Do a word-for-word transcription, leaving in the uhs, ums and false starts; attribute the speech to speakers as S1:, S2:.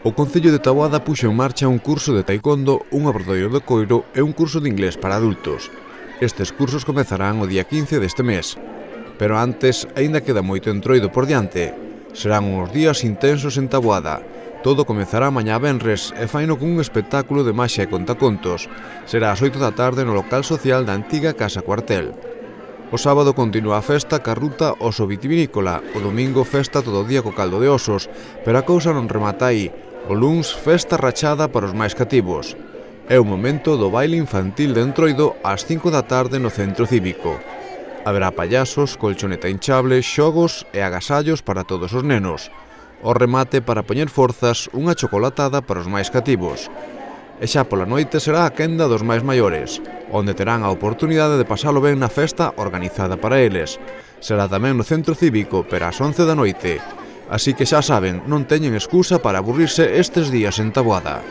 S1: O Concello de Taboada puxo en marcha un curso de taekwondo, un obradoiro de coiro e un curso de inglés para adultos. Estes cursos comezarán o día quince deste mes. Pero antes, aínda queda moito entroido por diante. Serán uns días intensos en Taboada. Todo comezará mañá venres e faino con un espectáculo de maxia e contacontos. Será ás oito da tarde no local social da antiga Casa Cuartel. O sábado continúa a festa ca ruta oso vitivinícola, o domingo festa todo o día co caldo de osos, pero a cousa non remata aí. O luns, festa rachada para os máis cativos. É o momento do baile infantil de Entroido ás cinco da tarde no centro cívico. Haberá payasos, colchoneta hinchable, xogos e agasallos para todos os nenos. O remate para poñer forzas, unha chocolatada para os máis cativos. E xa pola noite será a quenda dos máis maiores, onde terán a oportunidade de pasalo ben na festa organizada para eles. Será tamén no centro cívico, pero ás once da noite. Así que xa saben, non teñen excusa para aburrirse estes días en Taboada.